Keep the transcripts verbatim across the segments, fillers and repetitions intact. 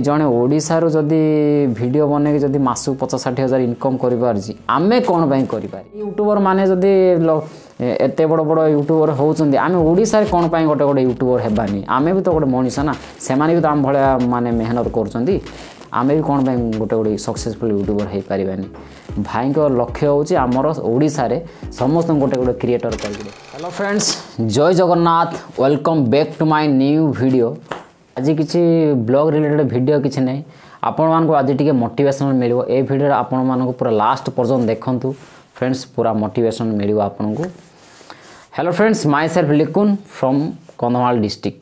ଜଣେ ଓଡ଼ିଶାରୁ ଯଦି ଭିଡ଼ିଓ ବନେଇକି ଯଦି ମାସକୁ ପଚାଶ ଷାଠିଏ ହଜାର ଇନକମ୍ କରିପାରୁଛି, ଆମେ କ'ଣ ପାଇଁ କରିପାରିବୁ? ୟୁଟ୍ୟୁବର ମାନେ ଯଦି ଏତେ ବଡ଼ ବଡ଼ ୟୁଟ୍ୟୁବର ହେଉଛନ୍ତି, ଆମେ ଓଡ଼ିଶାରେ କ'ଣ ପାଇଁ ଗୋଟେ ଗୋଟେ ୟୁଟ୍ୟୁବର ହେବାନି? ଆମେ ବି ତ ଗୋଟେ ମଣିଷ ନା, ସେମାନେ ବି ତ ଆମ ଭଳିଆ ମାନେ ମେହନତ କରୁଛନ୍ତି। ଆମେ ବି କ'ଣ ପାଇଁ ଗୋଟେ ଗୋଟେ ସକ୍ସେସଫୁଲ୍ ୟୁଟ୍ୟୁବର ହେଇପାରିବାନି? ଭାଇଙ୍କ ଲକ୍ଷ୍ୟ ହେଉଛି ଆମର ଓଡ଼ିଶାରେ ସମସ୍ତଙ୍କୁ ଗୋଟେ ଗୋଟେ କ୍ରିଏଟର କରିବେ। ହ୍ୟାଲୋ ଫ୍ରେଣ୍ଡସ୍, ଜୟ Jagannath, welcome back to my new video. ଆଜି କିଛି ବ୍ଲଗ୍ ରିଲେଟେଡ଼ ଭିଡ଼ିଓ କିଛି ନାହିଁ, ଆପଣମାନଙ୍କୁ ଆଜି ଟିକେ ମୋଟିଭେସନ୍ ମିଳିବ ଏ ଭିଡ଼ିଓରେ। ଆପଣମାନଙ୍କୁ ପୁରା ଲାଷ୍ଟ ପର୍ଯ୍ୟନ୍ତ ଦେଖନ୍ତୁ ଫ୍ରେଣ୍ଡସ୍, ପୁରା ମୋଟିଭେସନ୍ ମିଳିବ ଆପଣଙ୍କୁ। Hello friends, myself Likun from Kandhamal district.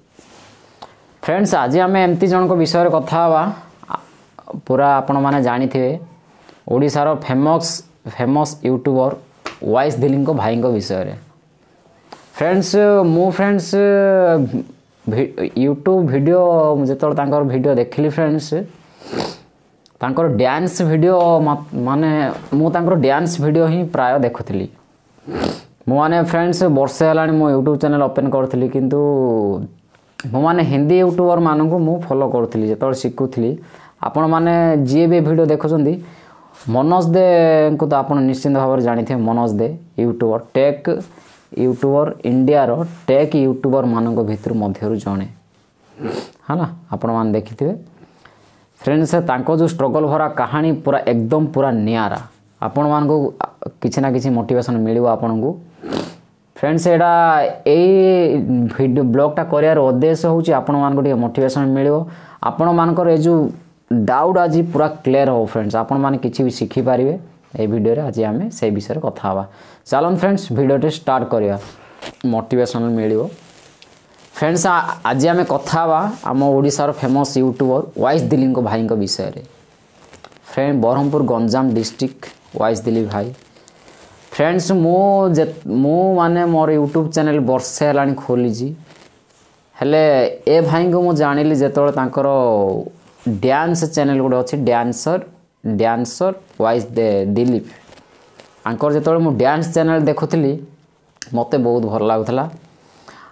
Friends, ଆଜି ଆମେ ଏମିତି ଜଣଙ୍କ ବିଷୟରେ କଥା ହେବା, ପୁରା ଆପଣମାନେ ଜାଣିଥିବେ, ଓଡ଼ିଶାର ଫେମସ୍ ଫେମସ୍ ୟୁଟ୍ୟୁବର ୱାଇସ୍ ଦିଲ୍ଲୀଙ୍କ ଭାଇଙ୍କ ବିଷୟରେ। ଫ୍ରେଣ୍ଡସ୍, ମୁଁ ଫ୍ରେଣ୍ଡସ୍ ୟୁଟ୍ୟୁବ୍ ଭିଡ଼ିଓ ଯେତେବେଳେ ତାଙ୍କର ଭିଡ଼ିଓ ଦେଖିଲି ଫ୍ରେଣ୍ଡସ୍, ତାଙ୍କର ଡ୍ୟାନ୍ସ ଭିଡ଼ିଓ, ମାନେ ମୁଁ ତାଙ୍କର ଡ୍ୟାନ୍ସ ଭିଡ଼ିଓ ହିଁ ପ୍ରାୟ ଦେଖୁଥିଲି। ମୁଁ ମାନେ ଫ୍ରେଣ୍ଡସ୍ ବର୍ଷେ ହେଲାଣି ମୁଁ ୟୁଟ୍ୟୁବ୍ ଚ୍ୟାନେଲ୍ ଓପେନ୍ କରିଥିଲି, କିନ୍ତୁ ମୁଁ ମାନେ ହିନ୍ଦୀ ୟୁଟ୍ୟୁବରମାନଙ୍କୁ ମୁଁ ଫଲୋ କରୁଥିଲି ଯେତେବେଳେ ଶିଖୁଥିଲି। ଆପଣମାନେ ଯିଏ ବି ଭିଡ଼ିଓ ଦେଖୁଛନ୍ତି, ମନୋଜ ଦେଙ୍କୁ ତ ଆପଣ ନିଶ୍ଚିନ୍ତ ଭାବରେ ଜାଣିଥିବେ। ମନୋଜ ଦେ ୟୁଟ୍ୟୁବର, ଟେକ୍ ୟୁଟ୍ୟୁବର, ଇଣ୍ଡିଆର ଟେକ୍ ୟୁଟ୍ୟୁବରମାନଙ୍କ ଭିତରୁ ମଧ୍ୟରୁ ଜଣେ ହେଲା, ଆପଣମାନେ ଦେଖିଥିବେ। ଫ୍ରେଣ୍ଡସ୍, ତାଙ୍କ ଯେଉଁ ଷ୍ଟ୍ରଗଲ୍ ଭରା କାହାଣୀ ପୁରା ଏକଦମ ପୁରା ନିଆରା, ଆପଣମାନଙ୍କୁ କିଛି ନା କିଛି ମୋଟିଭେସନ୍ ମିଳିବ ଆପଣଙ୍କୁ। ଫ୍ରେଣ୍ଡସ୍, ଏଇଟା ଏଇ ଭିଡ଼ିଓ ବ୍ଲଗ୍ଟା କରିବାର ଉଦ୍ଦେଶ୍ୟ ହେଉଛି ଆପଣମାନଙ୍କୁ ଟିକେ ମୋଟିଭେସନ୍ ମିଳିବ, ଆପଣମାନଙ୍କର ଏ ଯେଉଁ ଡାଉଟ୍ ଆଜି ପୁରା କ୍ଲିୟର୍ ହେବ। ଫ୍ରେଣ୍ଡସ୍, ଆପଣମାନେ କିଛି ବି ଶିଖିପାରିବେ ଏଇ ଭିଡ଼ିଓରେ। ଆଜି ଆମେ ସେଇ ବିଷୟରେ କଥା ହେବା। ଚାଲନ୍ତୁ ଫ୍ରେଣ୍ଡସ୍, ଭିଡ଼ିଓଟି ଷ୍ଟାର୍ଟ କରିବା, ମୋଟିଭେସନ୍ ମିଳିବ। ଫ୍ରେଣ୍ଡସ୍, ଆଜି ଆମେ କଥା ହେବା ଆମ ଓଡ଼ିଶାର ଫେମସ୍ ୟୁଟ୍ୟୁବର ୱାଇସ୍ ଦିଲ୍ଲୀଙ୍କ ଭାଇଙ୍କ ବିଷୟରେ। Friend, Brahmapur Ganjam district, wise Delhi ଭାଇ। ଫ୍ରେଣ୍ଡସ୍, ମୁଁ ଯେ ମୁଁ ମାନେ ମୋର ୟୁଟ୍ୟୁବ୍ ଚ୍ୟାନେଲ୍ ବର୍ଷେ ହେଲାଣି ଖୋଲିଛି, ହେଲେ ଏ ଭାଇଙ୍କୁ ମୁଁ ଜାଣିଲି ଯେତେବେଳେ ତାଙ୍କର ଡ୍ୟାନ୍ସ ଚ୍ୟାନେଲ୍ ଗୋଟେ ଅଛି, ଡ୍ୟାନ୍ସର ଡ୍ୟାନ୍ସର ୱାଇସ୍ ଦିଲୀପ। ତାଙ୍କର ଯେତେବେଳେ ମୁଁ ଡ୍ୟାନ୍ସ ଚ୍ୟାନେଲ୍ ଦେଖୁଥିଲି, ମୋତେ ବହୁତ ଭଲ ଲାଗୁଥିଲା।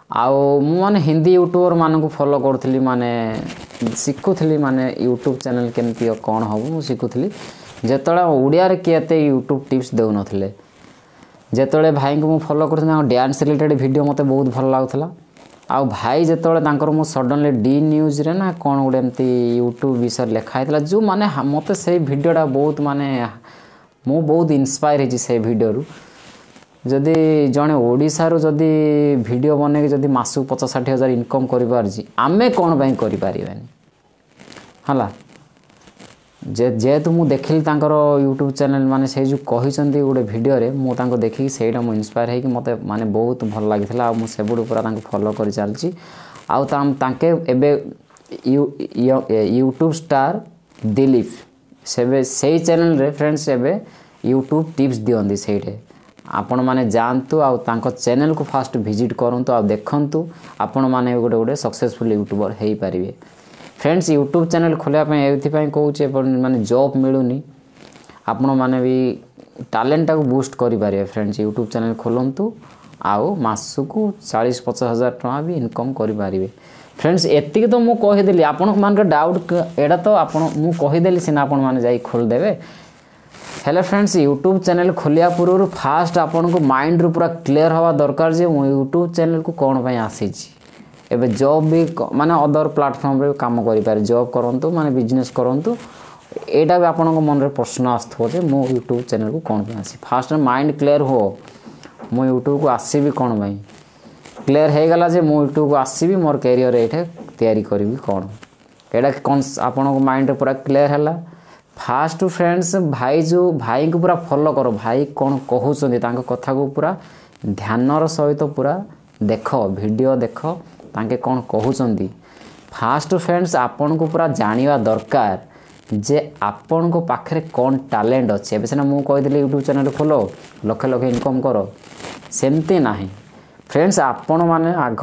ଆଉ ମୁଁ ମାନେ ହିନ୍ଦୀ ୟୁଟ୍ୟୁବରମାନଙ୍କୁ ଫଲୋ କରୁଥିଲି, ମାନେ ଶିଖୁଥିଲି, ମାନେ ୟୁଟ୍ୟୁବ୍ ଚ୍ୟାନେଲ୍ କେମିତି କ'ଣ ହେବ ମୁଁ ଶିଖୁଥିଲି, ଯେତେବେଳେ ଓଡ଼ିଆରେ କିଏ ଏତେ ୟୁଟ୍ୟୁବ୍ ଟିପ୍ସ ଦେଉନଥିଲେ। ଯେତେବେଳେ ଭାଇଙ୍କୁ ମୁଁ ଫଲୋ କରୁଥିଲି, ତାଙ୍କ ଡ୍ୟାନ୍ସ ରିଲେଟେଡ଼ ଭିଡ଼ିଓ ମୋତେ ବହୁତ ଭଲ ଲାଗୁଥିଲା। ଆଉ ଭାଇ ଯେତେବେଳେ ତାଙ୍କର ମୁଁ ସଡ଼ନଲି ଡି ନ୍ୟୁଜ୍ରେ ନା କ'ଣ ଗୋଟେ ଏମିତି ୟୁଟ୍ୟୁବ୍ ବିଷୟରେ ଲେଖା ହେଇଥିଲା, ଯେଉଁ ମାନେ ମୋତେ ସେଇ ଭିଡ଼ିଓଟା ବହୁତ, ମାନେ ମୁଁ ବହୁତ ଇନ୍ସପାୟାର ହେଇଛି ସେଇ ଭିଡ଼ିଓରୁ। ଯଦି ଜଣେ ଓଡ଼ିଶାରୁ ଯଦି ଭିଡ଼ିଓ ବନେଇକି ଯଦି ମାସକୁ ପଚାଶ ଷାଠିଏ ହଜାର ଇନକମ୍ କରିପାରୁଛି, ଆମେ କ'ଣ ପାଇଁ କରିପାରିବାନି? ହେଲା ଯେ ଯେହେତୁ ମୁଁ ଦେଖିଲି ତାଙ୍କର ୟୁଟ୍ୟୁବ୍ ଚ୍ୟାନେଲ୍, ମାନେ ସେଇ ଯେଉଁ କହିଛନ୍ତି ଗୋଟେ ଭିଡ଼ିଓରେ, ମୁଁ ତାଙ୍କୁ ଦେଖିକି ସେଇଟା ମୁଁ ଇନ୍ସପାୟାର ହେଇକି ମୋତେ ମାନେ ବହୁତ ଭଲ ଲାଗିଥିଲା। ଆଉ ମୁଁ ସେବୁଠୁ ପୁରା ତାଙ୍କୁ ଫଲୋ କରି ଚାଲିଛି। ଆଉ ତାଙ୍କେ ଏବେ ୟୁଟ୍ୟୁବ୍ ଷ୍ଟାର୍ ଦିଲୀପ ସେବେ ସେଇ ଚ୍ୟାନେଲ୍ରେ ଫ୍ରେଣ୍ଡସ୍ ଏବେ ୟୁଟ୍ୟୁବ୍ ଟିପ୍ସ ଦିଅନ୍ତି। ସେଇଠି ଆପଣମାନେ ଯାଆନ୍ତୁ ଆଉ ତାଙ୍କ ଚ୍ୟାନେଲ୍କୁ ଫାଷ୍ଟ ଭିଜିଟ୍ କରନ୍ତୁ ଆଉ ଦେଖନ୍ତୁ, ଆପଣମାନେ ଗୋଟେ ଗୋଟେ ସକ୍ସେସଫୁଲ୍ ୟୁଟ୍ୟୁବର୍ ହେଇପାରିବେ। ଫ୍ରେଣ୍ଡସ୍, ୟୁଟ୍ୟୁବ୍ ଚ୍ୟାନେଲ୍ ଖୋଲିବା ପାଇଁ ଏଇଥିପାଇଁ କହୁଛି, ମାନେ ଜବ୍ ମିଳୁନି, ଆପଣମାନେ ବି ଟ୍ୟାଲେଣ୍ଟଟାକୁ ବୁଷ୍ଟ କରିପାରିବେ। ଫ୍ରେଣ୍ଡସ୍, ୟୁଟ୍ୟୁବ୍ ଚ୍ୟାନେଲ୍ ଖୋଲନ୍ତୁ ଆଉ ମାସକୁ ଚାଳିଶ ପଚାଶ ହଜାର ଟଙ୍କା ବି ଇନକମ୍ କରିପାରିବେ। ଫ୍ରେଣ୍ଡସ୍, ଏତିକି ତ ମୁଁ କହିଦେଲି। ଆପଣମାନଙ୍କ ଡାଉଟ୍ ଏଇଟା ତ ଆପଣ ମୁଁ କହିଦେଲି ସିନା, ଆପଣମାନେ ଯାଇ ଖୋଲିଦେବେ। ହେଲେ ଫ୍ରେଣ୍ଡସ୍, ୟୁଟ୍ୟୁବ୍ ଚ୍ୟାନେଲ୍ ଖୋଲିବା ପୂର୍ବରୁ ଫାଷ୍ଟ ଆପଣଙ୍କୁ ମାଇଣ୍ଡରୁ ପୁରା କ୍ଲିୟର୍ ହେବା ଦରକାର ଯେ ମୁଁ ୟୁଟ୍ୟୁବ୍ ଚ୍ୟାନେଲ୍କୁ କ'ଣ ପାଇଁ ଆସିଛି। ଏବେ ଜବ୍ ବି ମାନେ ଅଦର ପ୍ଲାଟଫର୍ମରେ କାମ କରିପାରେ, ଜବ୍ କରନ୍ତୁ, ମାନେ ବିଜନେସ୍ କରନ୍ତୁ, ଏଇଟା ବି ଆପଣଙ୍କ ମନରେ ପ୍ରଶ୍ନ ଆସୁଥିବ ଯେ ମୁଁ ୟୁଟ୍ୟୁବ୍ ଚ୍ୟାନେଲ୍କୁ କ'ଣ ପାଇଁ ଆସିବି। ଫାଷ୍ଟ ମାଇଣ୍ଡ କ୍ଲିୟର୍ ହୁଅ, ମୁଁ ୟୁଟ୍ୟୁବ୍କୁ ଆସିବି କ'ଣ ପାଇଁ। କ୍ଲିୟର୍ ହେଇଗଲା ଯେ ମୁଁ ୟୁଟ୍ୟୁବ୍କୁ ଆସିବି, ମୋର କ୍ୟାରିୟର୍ ଏଇଠି ତିଆରି କରିବି କ'ଣ, ଏଇଟା କ'ଣ ଆପଣଙ୍କ ମାଇଣ୍ଡରେ ପୁରା କ୍ଲିୟର୍ ହେଲା। ଫାଷ୍ଟ ଫ୍ରେଣ୍ଡସ୍, ଭାଇ ଯେଉଁ ଭାଇଙ୍କୁ ପୁରା ଫଲୋ କର, ଭାଇ କ'ଣ କହୁଛନ୍ତି ତାଙ୍କ କଥାକୁ ପୁରା ଧ୍ୟାନର ସହିତ ପୁରା ଦେଖ, ଭିଡ଼ିଓ ଦେଖ ତାଙ୍କେ କ'ଣ କହୁଛନ୍ତି। ଫାଷ୍ଟ ଫ୍ରେଣ୍ଡସ୍, ଆପଣଙ୍କୁ ପୁରା ଜାଣିବା ଦରକାର ଯେ ଆପଣଙ୍କ ପାଖରେ କ'ଣ ଟ୍ୟାଲେଣ୍ଟ ଅଛି। ଏବେ ସିନା ମୁଁ କହିଦେଲି ୟୁଟ୍ୟୁବ୍ ଚ୍ୟାନେଲ୍ ଖୋଲ, ଲକ୍ଷ ଲକ୍ଷ ଇନକମ୍ କର, ସେମିତି ନାହିଁ ଫ୍ରେଣ୍ଡସ୍। ଆପଣମାନେ ଆଗ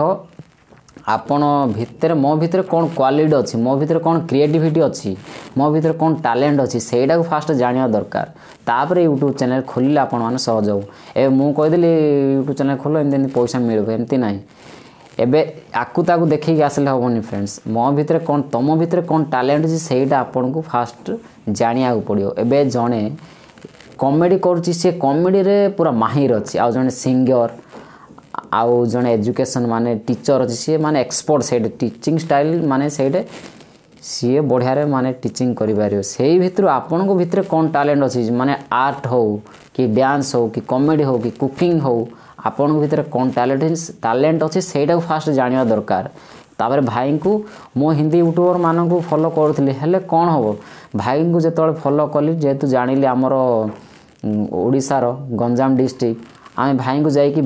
ଆପଣ ଭିତରେ, ମୋ ଭିତରେ କ'ଣ କ୍ୱାଲିଟି ଅଛି, ମୋ ଭିତରେ କ'ଣ କ୍ରିଏଟିଭିଟି ଅଛି, ମୋ ଭିତରେ କ'ଣ ଟ୍ୟାଲେଣ୍ଟ ଅଛି, ସେଇଟାକୁ ଫାଷ୍ଟ ଜାଣିବା ଦରକାର। ତାପରେ ୟୁଟ୍ୟୁବ୍ ଚ୍ୟାନେଲ୍ ଖୋଲିଲେ ଆପଣମାନେ ସହଜ ହେବ। ଏବେ ମୁଁ କହିଦେଲି ୟୁଟ୍ୟୁବ୍ ଚ୍ୟାନେଲ୍ ଖୋଲ, ଏମିତି ଏମିତି ପଇସା ମିଳିବ, ଏମିତି ନାହିଁ। ଏବେ ଆକୁ ତାକୁ ଦେଖିକି ଆସିଲେ ହେବନି ଫ୍ରେଣ୍ଡସ୍। ମୋ ଭିତରେ କ'ଣ, ତୁମ ଭିତରେ କ'ଣ ଟ୍ୟାଲେଣ୍ଟ ଅଛି, ସେଇଟା ଆପଣଙ୍କୁ ଫାଷ୍ଟ ଜାଣିବାକୁ ପଡ଼ିବ। ଏବେ ଜଣେ କମେଡ଼ି କରୁଛି, ସେ କମେଡ଼ିରେ ପୁରା ମାହିର ଅଛି, ଆଉ ଜଣେ ସିଙ୍ଗର, ଆଉ ଜଣେ ଏଜୁକେସନ୍ ମାନେ ଟିଚର୍ ଅଛି, ସିଏ ମାନେ ଏକ୍ସପର୍ଟ ସେଇଠି ଟିଚିଂ ଷ୍ଟାଇଲ୍, ମାନେ ସେଇଠି ସିଏ ବଢ଼ିଆରେ ମାନେ ଟିଚିଂ କରିପାରିବ। ସେଇ ଭିତରୁ ଆପଣଙ୍କ ଭିତରେ କ'ଣ ଟ୍ୟାଲେଣ୍ଟ ଅଛି, ମାନେ ଆର୍ଟ ହେଉ କି ଡ୍ୟାନ୍ସ ହେଉ କି କମେଡ଼ି ହେଉ କି କୁକିଂ ହେଉ, ଆପଣଙ୍କ ଭିତରେ କ'ଣ ଟ୍ୟାଲେଣ୍ଟ ଟ୍ୟାଲେଣ୍ଟ ଅଛି, ସେଇଟାକୁ ଫାଷ୍ଟ ଜାଣିବା ଦରକାର। ତାପରେ ଭାଇଙ୍କୁ, ମୁଁ ହିନ୍ଦୀ ୟୁଟ୍ୟୁବରମାନଙ୍କୁ ଫଲୋ କରୁଥିଲି, ହେଲେ କ'ଣ ହେବ, ଭାଇଙ୍କୁ ଯେତେବେଳେ ଫଲୋ କଲି, ଯେହେତୁ ଜାଣିଲି ଆମର ଓଡ଼ିଶାର ଗଞ୍ଜାମ ଡିଷ୍ଟ୍ରିକ୍ଟ, ଆମେ ଭାଇଙ୍କୁ ଯାଇକି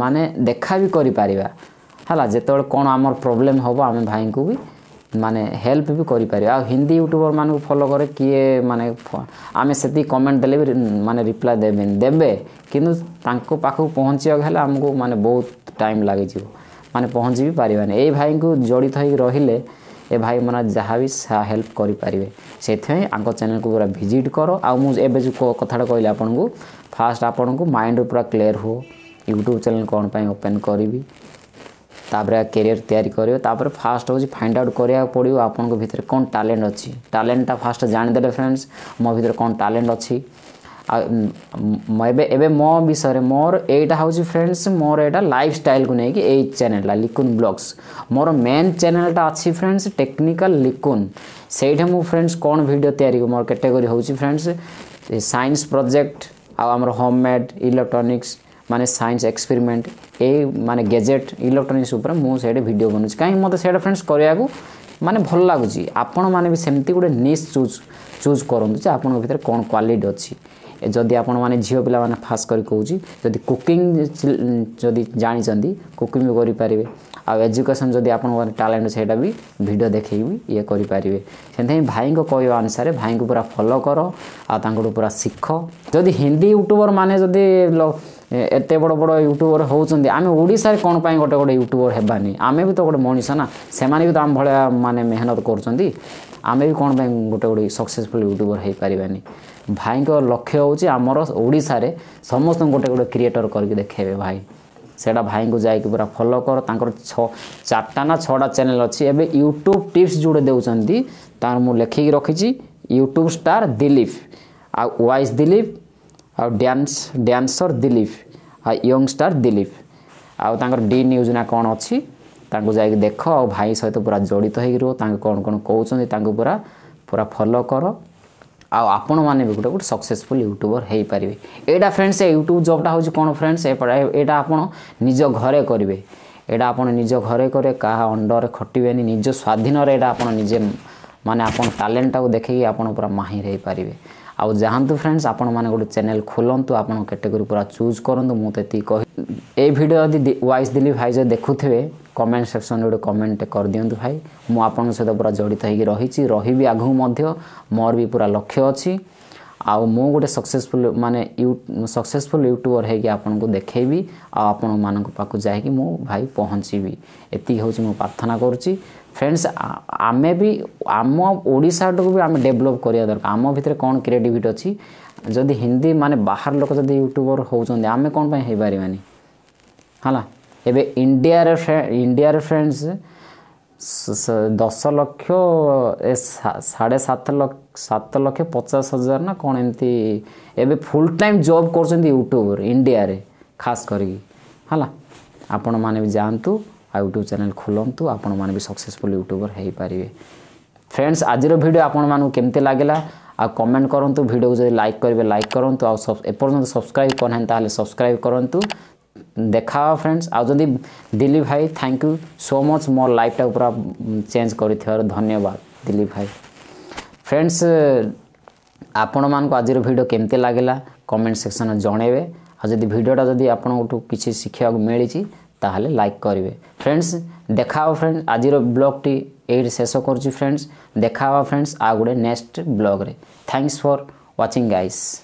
ମାନେ ଦେଖା ବି କରିପାରିବା ହେଲା। ଯେତେବେଳେ କ'ଣ ଆମର ପ୍ରୋବ୍ଲେମ୍ ହେବ, ଆମେ ଭାଇଙ୍କୁ ବି ମାନେ ହେଲ୍ପ ବି କରିପାରିବା। ଆଉ ହିନ୍ଦୀ ୟୁଟ୍ୟୁବରମାନଙ୍କୁ ଫଲୋ କରେ କିଏ, ମାନେ ଆମେ ସେତିକି କମେଣ୍ଟ ଦେଲେ ବି ମାନେ ରିପ୍ଲାଏ ଦେବେନି, ଦେବେ କିନ୍ତୁ ତାଙ୍କ ପାଖକୁ ପହଞ୍ଚିବାକୁ ହେଲେ ଆମକୁ ମାନେ ବହୁତ ଟାଇମ୍ ଲାଗିଯିବ, ମାନେ ପହଞ୍ଚି ବି ପାରିବାନି। ଏଇ ଭାଇଙ୍କୁ ଜଡ଼ିତ ହେଇକି ରହିଲେ ଏ ଭାଇମାନେ ଯାହା ବି ହେଲ୍ପ କରିପାରିବେ। ସେଥିପାଇଁ ଆଙ୍କ ଚ୍ୟାନେଲକୁ ପୁରା ଭିଜିଟ୍ କର। ଆଉ ମୁଁ ଏବେ ଯେଉଁ କଥାଟା କହିଲି ଆପଣଙ୍କୁ, ଫାଷ୍ଟ ଆପଣଙ୍କୁ ମାଇଣ୍ଡ ପୁରା କ୍ଲିୟର ହୁଅ, ୟୁଟ୍ୟୁବ୍ ଚ୍ୟାନେଲ୍ କ'ଣ ପାଇଁ ଓପେନ୍ କରିବି, ତାପରେ କ୍ୟାରିୟର ତିଆରି କରିବେ। ତାପରେ ଫାଷ୍ଟ ହେଉଛି ଫାଇଣ୍ଡ ଆଉଟ୍ କରିବାକୁ ପଡ଼ିବ ଆପଣଙ୍କ ଭିତରେ କ'ଣ ଟ୍ୟାଲେଣ୍ଟ ଅଛି। ଟ୍ୟାଲେଣ୍ଟଟା ଫାଷ୍ଟ ଜାଣିଦେଲେ ଫ୍ରେଣ୍ଡସ୍, ମୋ ଭିତରେ କ'ଣ ଟ୍ୟାଲେଣ୍ଟ ଅଛି। ଆଉ ଏବେ ଏବେ ମୋ ବିଷୟରେ, ମୋର ଏଇଟା ହେଉଛି ଫ୍ରେଣ୍ଡସ୍, ମୋର ଏଇଟା ଲାଇଫ୍ ଷ୍ଟାଇଲ୍କୁ ନେଇକି ଏଇ ଚ୍ୟାନେଲ୍ଟା ଲିକୁନ୍ ବ୍ଲଗ୍ସ। ମୋର ମେନ୍ ଚ୍ୟାନେଲ୍ଟା ଅଛି ଫ୍ରେଣ୍ଡସ୍ ଟେକ୍ନିକାଲ୍ ଲିକୁନ୍। ସେଇଠି ମୁଁ ଫ୍ରେଣ୍ଡସ୍ କ'ଣ ଭିଡ଼ିଓ ତିଆରି, ମୋର କ୍ୟାଟେଗୋରୀ ହେଉଛି ଫ୍ରେଣ୍ଡସ୍ ସାଇନ୍ସ ପ୍ରୋଜେକ୍ଟ, ଆଉ ଆମର ହୋମ୍ ମେଡ୍ ଇଲେକ୍ଟ୍ରୋନିକ୍ସ, ମାନେ ସାଇନ୍ସ ଏକ୍ସପେରିମେଣ୍ଟ, ଏଇ ମାନେ ଗେଜେଟ୍ ଇଲେକ୍ଟ୍ରୋନିକ୍ସ ଉପରେ ମୁଁ ସେଇଠି ଭିଡ଼ିଓ ବନାଉଛି। କାହିଁକି ମୋତେ ସେଇଟା ଫ୍ରେଣ୍ଡସ୍ କରିବାକୁ ମାନେ ଭଲ ଲାଗୁଛି। ଆପଣମାନେ ବି ସେମିତି ଗୋଟେ ନିଶ୍ ଚୁଜ୍ ଚୁଜ୍ କରନ୍ତୁ ଯେ ଆପଣଙ୍କ ଭିତରେ କ'ଣ କ୍ୱାଲିଟି ଅଛି। ଯଦି ଆପଣମାନେ ଝିଅ ପିଲାମାନେ, ଖାସ୍ କରି କହୁଛି, ଯଦି କୁକିଂ ଯଦି ଜାଣିଛନ୍ତି, କୁକିଂ ବି କରିପାରିବେ, ଆଉ ଏଜୁକେସନ୍ ଯଦି ଆପଣଙ୍କ ଟ୍ୟାଲେଣ୍ଟ, ସେଇଟା ବି ଭିଡ଼ିଓ ଦେଖେଇକି ବି ଇଏ କରିପାରିବେ। ସେଥିପାଇଁ ଭାଇଙ୍କ କହିବା ଅନୁସାରେ ଭାଇଙ୍କୁ ପୁରା ଫଲୋ କର ଆଉ ତାଙ୍କଠୁ ପୁରା ଶିଖ। ଯଦି ହିନ୍ଦୀ ୟୁଟ୍ୟୁବର ମାନେ ଯଦି ଏତେ ବଡ଼ ବଡ଼ ୟୁଟ୍ୟୁବର ହେଉଛନ୍ତି, ଆମେ ଓଡ଼ିଶାରେ କ'ଣ ପାଇଁ ଗୋଟେ ଗୋଟେ ୟୁଟ୍ୟୁବର ହେବାନି? ଆମେ ବି ତ ଗୋଟେ ମଣିଷ ନା, ସେମାନେ ବି ତ ଆମ ଭଳିଆ ମାନେ ମେହନତ କରୁଛନ୍ତି, ଆମେ ବି କ'ଣ ପାଇଁ ଗୋଟେ ଗୋଟେ ସକ୍ସେସଫୁଲ୍ ୟୁଟ୍ୟୁବର ହେଇପାରିବାନି? ଭାଇଙ୍କ ଲକ୍ଷ୍ୟ ହେଉଛି ଆମର ଓଡ଼ିଶାରେ ସମସ୍ତଙ୍କୁ ଗୋଟେ ଗୋଟେ କ୍ରିଏଟର କରିକି ଦେଖେଇବେ ଭାଇ। ସେଇଟା ଭାଇଙ୍କୁ ଯାଇକି ପୁରା ଫଲୋ କର। ତାଙ୍କର ଛଅ ଚାରିଟା ନା ଛଅଟା ଚ୍ୟାନେଲ୍ ଅଛି। ଏବେ ୟୁଟ୍ୟୁବ୍ ଟିପ୍ସ ଯେଉଁଟା ଦେଉଛନ୍ତି, ତାର ମୁଁ ଲେଖିକି ରଖିଛି, ୟୁଟ୍ୟୁବ୍ ଷ୍ଟାର୍ ଦିଲୀପ, ଆଉ ୱାଇସ୍ ଦିଲୀପ, ଆଉ ଡ୍ୟାନ୍ସ ଡ୍ୟାନ୍ସର ଦିଲୀପ, ଆଉ ୟଙ୍ଗ ଷ୍ଟାର୍ ଦିଲୀପ, ଆଉ ତାଙ୍କର ଡି ନ୍ୟୁଜ୍ ନା କ'ଣ ଅଛି, ତାଙ୍କୁ ଯାଇକି ଦେଖ। ଆଉ ଭାଇ ସହିତ ପୁରା ଜଡ଼ିତ ହେଇକି ରୁହ, ତାଙ୍କୁ କ'ଣ କ'ଣ କହୁଛନ୍ତି ତାଙ୍କୁ ପୁରା ପୁରା ଫଲୋ କର, ଆଉ ଆପଣମାନେ ବି ଗୋଟେ ଗୋଟେ ସକ୍ସେସଫୁଲ୍ ୟୁଟ୍ୟୁବର ହେଇପାରିବେ। ଏଇଟା ଫ୍ରେଣ୍ଡସ୍, ଏ ୟୁଟ୍ୟୁବ୍ ଜବ୍ଟା ହେଉଛି କ'ଣ ଫ୍ରେଣ୍ଡସ୍, ଏଇଟା ଆପଣ ନିଜ ଘରେ କରିବେ। ଏଇଟା ଆପଣ ନିଜ ଘରେ କରିବେ, କାହା ଅଣ୍ଡରରେ ଖଟିବେନି, ନିଜ ସ୍ୱାଧୀନରେ। ଏଇଟା ଆପଣ ନିଜେ ମାନେ ଆପଣ ଟ୍ୟାଲେଣ୍ଟଟାକୁ ଦେଖିକି ଆପଣ ପୁରା ମାହିର ହେଇପାରିବେ। ଆଉ ଯାଆନ୍ତୁ ଫ୍ରେଣ୍ଡସ୍, ଆପଣମାନେ ଗୋଟେ ଚ୍ୟାନେଲ୍ ଖୋଲନ୍ତୁ, ଆପଣଙ୍କ କ୍ୟାଟେଗୋରୀ ପୁରା ଚୁଜ୍ କରନ୍ତୁ। ମୁଁ ତ ଏତିକି କହି, ଏଇ ଭିଡ଼ିଓ ଯଦି ୱାଇସ୍ ଦିଲୀପ ଭାଇ ଯଦି ଦେଖୁଥିବେ, କମେଣ୍ଟ ସେକ୍ସନରେ ଗୋଟେ କମେଣ୍ଟ କରିଦିଅନ୍ତୁ, ଭାଇ ମୁଁ ଆପଣଙ୍କ ସହିତ ପୁରା ଜଡ଼ିତ ହେଇକି ରହିଛି, ରହିବି ଆଗକୁ ମଧ୍ୟ। ମୋର ବି ପୁରା ଲକ୍ଷ୍ୟ ଅଛି, ଆଉ ମୁଁ ଗୋଟେ ସକ୍ସେସଫୁଲ୍ ମାନେ you successful YouTuber ହେଇକି ଆପଣଙ୍କୁ ଦେଖେଇବି, ଆଉ ଆପଣମାନଙ୍କ ପାଖକୁ ଯାଇକି ମୁଁ ଭାଇ ପହଞ୍ଚିବି। ଏତିକି ହେଉଛି ମୁଁ ପ୍ରାର୍ଥନା କରୁଛି। ଫ୍ରେଣ୍ଡସ୍, ଆମେ ବି ଆମ ଓଡ଼ିଶାଟାକୁ ବି ଆମେ ଡେଭଲପ୍ କରିବା ଦରକାର। ଆମ ଭିତରେ କ'ଣ କ୍ରିଏଟିଭିଟି ଅଛି? ଯଦି ହିନ୍ଦୀ ମାନେ ବାହାର ଲୋକ ଯଦି ୟୁଟ୍ୟୁବର ହେଉଛନ୍ତି, ଆମେ କ'ଣ ପାଇଁ ହେଇପାରିବାନି ହେଲା? ଏବେ ଇଣ୍ଡିଆରେ ଇଣ୍ଡିଆରେ ଫ୍ରେଣ୍ଡସ୍ ଦଶ ଲକ୍ଷ ଏ ସାଢ଼େ ସାତ ଲକ୍ଷ, ସାତ ଲକ୍ଷ ପଚାଶ ହଜାର ନା କ'ଣ ଏମିତି ଏବେ ଫୁଲ୍ ଟାଇମ୍ ଜବ୍ କରୁଛନ୍ତି ୟୁଟ୍ୟୁବର ଇଣ୍ଡିଆରେ ଖାସ୍ କରିକି ହେଲା। ଆପଣମାନେ ବି ଯାଆନ୍ତୁ ଆଉ ୟୁଟ୍ୟୁବ୍ ଚ୍ୟାନେଲ୍ ଖୋଲନ୍ତୁ, ଆପଣମାନେ ବି ସକ୍ସେସଫୁଲ୍ ୟୁଟ୍ୟୁବର ହେଇପାରିବେ। ଫ୍ରେଣ୍ଡସ୍, ଆଜିର ଭିଡ଼ିଓ ଆପଣମାନଙ୍କୁ କେମିତି ଲାଗିଲା ଆଉ କମେଣ୍ଟ କରନ୍ତୁ। ଭିଡ଼ିଓକୁ ଯଦି ଲାଇକ୍ କରିବେ, ଲାଇକ୍ କରନ୍ତୁ, ଆଉ ଏପର୍ଯ୍ୟନ୍ତ ସବସ୍କ୍ରାଇବ୍ କରିନାହାନ୍ତି ତାହେଲେ ସବସ୍କ୍ରାଇବ୍ କରନ୍ତୁ। ଦେଖା ହେବା ଫ୍ରେଣ୍ଡସ୍। ଆଉ ଯଦି ଦିଲୀପ ଭାଇ, thank you so much, ମୋ ଲାଇଫ୍ଟାକୁ ପୁରା ଚେଞ୍ଜ କରିଥିବାରୁ ଧନ୍ୟବାଦ ଦିଲୀପ ଭାଇ। ଫ୍ରେଣ୍ଡସ୍, ଆପଣମାନଙ୍କୁ ଆଜିର ଭିଡ଼ିଓ କେମିତି ଲାଗିଲା କମେଣ୍ଟ ସେକ୍ସନରେ ଜଣେଇବେ, ଆଉ ଯଦି ଭିଡ଼ିଓଟା ଯଦି ଆପଣଙ୍କଠୁ କିଛି ଶିଖିବାକୁ ମିଳିଛି ତାହେଲେ ଲାଇକ୍ କରିବେ। ଫ୍ରେଣ୍ଡସ୍, ଦେଖା ହେବ ଫ୍ରେଣ୍ଡ, ଆଜିର ବ୍ଲଗ୍ଟି ଏଇଠି ଶେଷ କରୁଛି ଫ୍ରେଣ୍ଡସ୍। ଦେଖା ହେବା ଫ୍ରେଣ୍ଡସ୍ ଆଉ ଗୋଟେ next ବ୍ଲଗ୍ରେ। Thanks for watching guys.